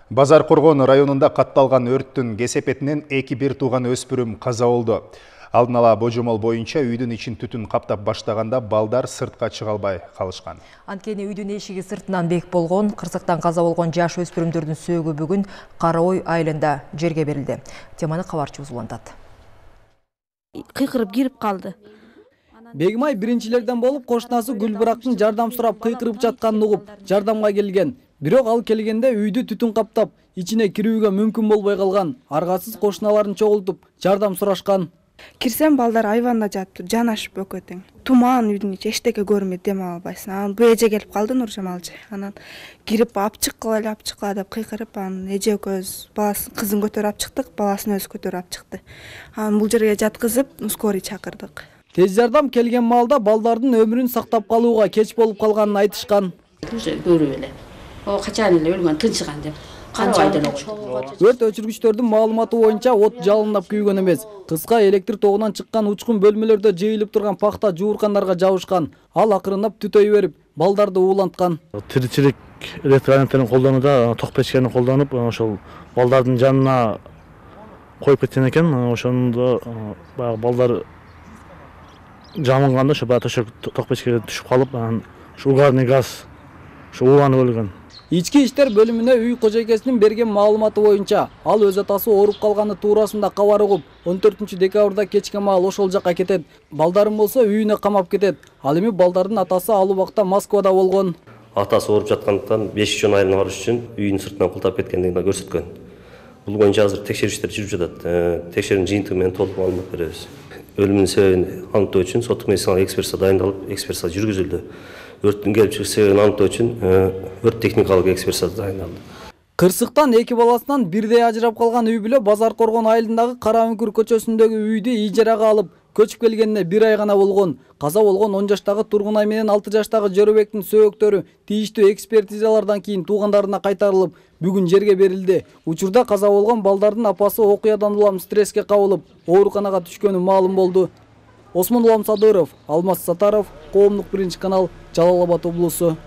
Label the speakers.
Speaker 1: Базар Коргон районунда катталган өрттүн кесепетинен 2 тууган өспүрүм каза болду. Алдын ала божомол боюнча үйдүн ичин түтүн каптап баштаганда балдар сыртка чыга албай калышкан.
Speaker 2: Анткени үйдүн эшиги сыртынан бек болгон, кырсыктан каза болгон жаш өспүрүмдөрдүн сөөгү бүгүн Кара Ой айылында жерге берилди. Теманы кабарчыбыз улантат.
Speaker 3: Кыйкырып кирип калды.
Speaker 4: Бегимай биринчилерден болуп кошунасы Гүлбырактын жардам сурап кыйкырып жатканын угуп, жардамга келген. Бирок ал келгенде үйдү түтүн каптап, ичине кирүүгө мүмкүн болбой калган. Аргасыз кошуналарын чогултуп, жардам сурашкан.
Speaker 5: Кирсем балдар айванда жатып, жанашып өкөтөң. Туман үйдүн ичи эчтеке көрмөйт, дем албайсың. Анан бул эже келип калды, Нуржамалжы. Анан кирип апчыккыла деп кыйкырып, анан эже экөөбүз баласын, кызын көтөрүп чыктык, баласын өзү көтөрүп чыкты. Анан бул жерге жаткызып, скорый чакырдык.
Speaker 4: Тез жардам келген маалда балдардын өмүрүн сактап калууга кеч болуп калганын айтышкан.
Speaker 3: Көрүп эле. О качан эле өлгөн, тынчыган деп.
Speaker 4: Өрт өчүргүчтөрдүн маалыматы боюнча от жалындап күйгөн эмес. Кыска электр тогунан чыккан учкун бөлмөлөрдө жыйылып турган пахта жууркандарга жабышкан. Ал акырындап түтөй берип, балдарды ууланткан.
Speaker 6: Тиричилик электроэнергияны колдонууда ток печкени колдонуп, ошол балдардын жанына коюп кеткен экен. Ошондо баягы балдар жамынганда ошо төшөк ток печкеге түшүп калып, анан ушу угарный газ ууланып өлгөн.
Speaker 4: Ички иштер бөлүмүнө үй кожойкесинин берген маалыматы боюнча, ал өз атасы ооруп калганы туурасында кабар угуп, 14 декабрда кечке маал ошол жакка кетет. Балдарым болсо үйүнө камап кетет. Ал эми балдардын атасы ал убакта Москвада болгон.
Speaker 7: Атасы ооруп жаткандыктан 5 айылына барыш үчүн үйүнүн сыртынан култап кеткендигин көрсөткөн. Бул боюнча азыр текшерүүчүлөр жүрүп жатат. Текшерүүнүн жыйынтыгы менен толук маалымат беребиз. Өлүмүнүн себебин аныктоо үчүн соттук медициналык экспертиза дайындалып, экспертиза жүргүзүлдү. Өрттүн келип чыгыш себебин аныктоо үчүн өрт техникалык экспертиза дайындалды.
Speaker 4: Кырсыктан 2 баласынан бирдей ажырап калган үй бүлө Базар Коргон айылындагы Кара Үңкүр көчөсүндөгү үйдү ижарага алып, көчүп келгенине 1 ай гана болгон. Каза болгон 10 жаштагы Тургунай менен 6 жаштагы Жөрөбектин сөөгүттөрү тийиштүү экспертизалардан кийин туугандарына кайтарылып, бүгүн жерге берилди. Учурда каза болгон балдардын апасы окуядан улам стресске кабылып, ооруканага түшкөнү маалым болду. Осмон Садыров, Алмаз Сатаров, Коомдук 1 канал, Жалал Абад облусу.